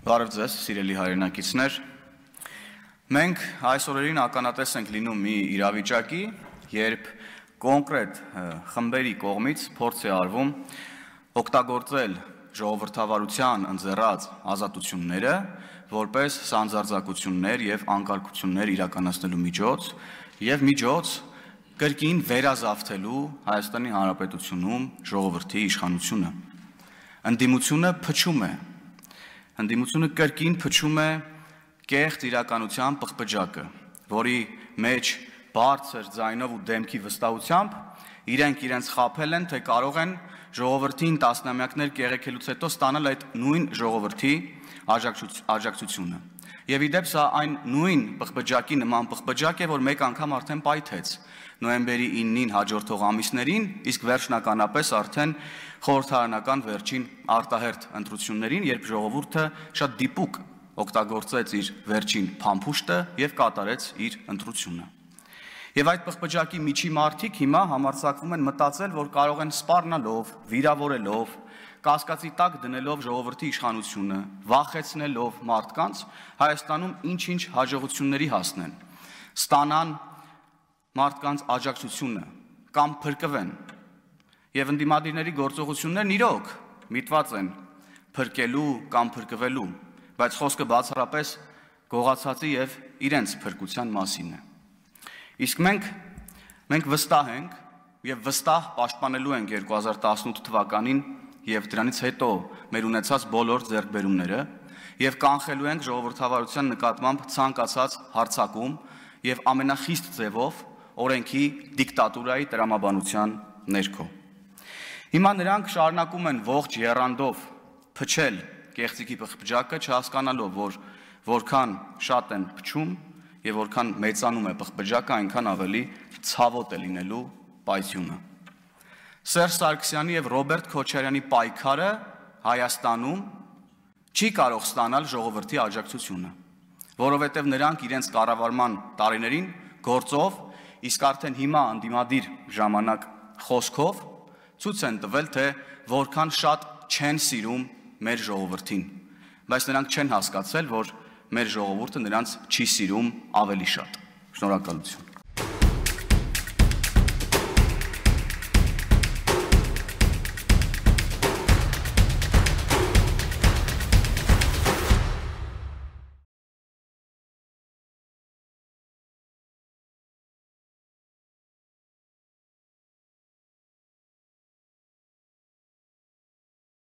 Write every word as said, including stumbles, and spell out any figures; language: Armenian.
Բարև ձեզ, սիրելի հայրենակիցներ, մենք այս օրերին ականատես ենք լինում մի իրավիճակի, երբ կոնկրետ խմբերի կողմից փորձ է արվում օգտագործել ժողովրդավարության ընձեռած ազատությունները որպես սանձարձակություններ և անկարգություններ իրականացնելու միջոց և միջոց կրկին վերազավթելու Հայաստանի Հանրապետությունում ժողովրդի իշխանությունը։ Ընդդիմությունը փչում է, ընդդիմությունը կրկին փչում է կեղծ իրականության պղպջակը, որի մեջ բարձր ձայնով ու դեմքի վստահությամբ իրենք իրենց խաբել են, թե կարող են ժողովրդին տասնամյակներ կեղեքելուց հետո ստանալ այդ նույն ժողովրդի աջակցությունը։ Եվ ի դեպ սա այն նույն պղպջակի նման պղպջակ է, որ մեկ անգամ արդեն պայթեց նոյեմբերի իննին հաջորդող ամիսներին, իսկ վերջնականապես արդեն խորհրդարանական վերջին արտահերթ ընտրություններին, երբ ժողովուրդը շատ դիպուկ օգտագործեց իր վերջին փամփուշտը և կատարեց իր ընտրությունը։ Եվ այդ պղպջակի միջի մարդիկ հիմա համարձակվում են մտածել, որ կարող են սպառնալով, վիրավորելով, կասկածի տակ դնելով ժողովրդի իշխանությունը, վախեցնելով մարդկանց Հայաստանում ինչ-ինչ հաջողությունների հասնեն, ստանան մարդկանց աջակցությունը կամ փրկվեն։ Եվ ընդդիմադիրների գործողություններն իրոք միտված են փրկելու կամ փրկվելու, բայց խոսքը բացառապես գողացածի և իրենց փրկության մասին է։ Իսկ մենք, մենք վստահ ենք և վստահ պաշտպանելու ենք երկու հազար տասնութ թվականին և դրանից հետո մեր ունեցած բոլոր ձեռքբերումները և կանխելու ենք ժողովրդավարության նկատմամբ ցանկացած հարձակում և ամենախիստ ձևով օրենքի դիկտատուրայի տրամաբանության ներքո։ Հիմա նրանք շարունակում են ողջ եռանդով փչել կեղծիքի պղպջակը, չհասկանալով, որ որքան շատ են փչում և որքան մեծանում է պղպջակը, այնքան ավելի ցավոտ է լինելու պայթյունը։ Սերժ Սարգսյանի և Ռոբերտ Քոչարյանի պայքարը Հայաստանում չի կարող ստանալ ժողովրդի աջակցությունը, որովհետև նրանք իրենց կառավարման տարիներին գործով, իսկ արդեն հիմա ընդդիմադիր ժամանակ խոսքով ցույց են տվել, թե որքան շատ չեն սիրում մեր ժողովրդին, բայց նրանք չեն հասկացել, որ մեր ժողովուրդը նրանց չի սիրում ավելի շատ։ Շնորհակալություն։